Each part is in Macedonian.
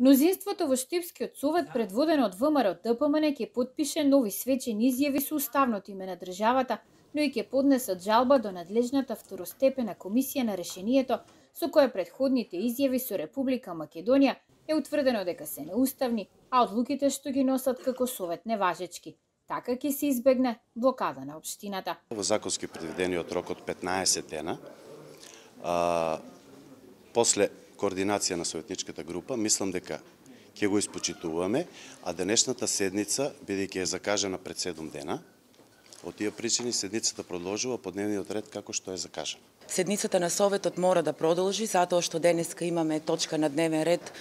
Мнозинството во Штипскиот совет, предводено од ВМРО ДПМН, ќе потпише нови свечени изјави со уставното име на државата, но и ќе поднесат жалба до надлежната второстепена комисија на решението, со кое предходните изјави со Република Македонија е утврдено дека се неуставни, а одлуките што ги носат како совет неважечки. Така ќе се избегне блокада на општината. Во законски предвидениот рок од 15 дена, после координација на советничката група, мислам дека ќе го испочитуваме, а денешната седница, бидејќи е закажана пред 7 дена, од тие причини седницата продолжува по дневниот ред како што е закажана. Седницата на Советот мора да продолжи, затоа што денеска имаме точка на дневен ред,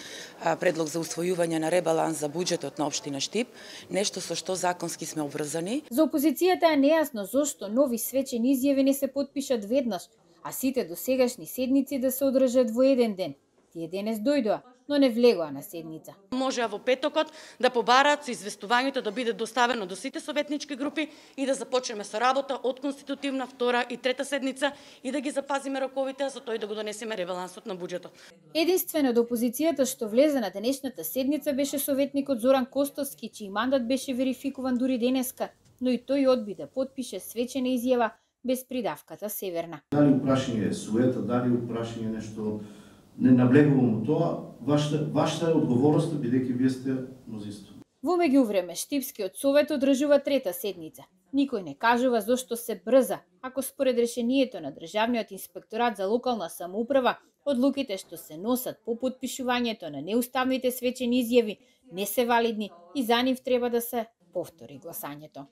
предлог за усвојување на ребаланс за буџетот на општина Штип, нешто со што законски сме обврзани. За опозицијата е нејасно зошто нови свечени изјави не се потпишат веднаш, а сите досегашни седници да се одржат во еден ден. Тие денес дојдоа, но не влегоа на седница. Можеа во петокот да побараат со известувањето да биде доставено до сите советнички групи и да започнеме со работа од конститутивна, втора и трета седница и да ги запазиме роковите, а за тој да го донесеме ребалансот на буџетот. Единствено од опозицијата што влезе на денешната седница беше советникот Зоран Костовски, чиј мандат беше верификуван дури денеска, но и тој одби да потпише свечена изјава без придавката Северна. Дали упрашање е суета, дали упрашање нешто, не наблегувам тоа, вашата е одговорноста, бидејќи вие сте мнозинство. Во меѓувреме, Штипскиот совет одржува трета седница. Никој не кажува зошто се брза, ако според решението на Државниот инспекторат за локална самоуправа, одлуките што се носат по потпишувањето на неуставните свечени изјави не се валидни и за нив треба да се повтори гласањето.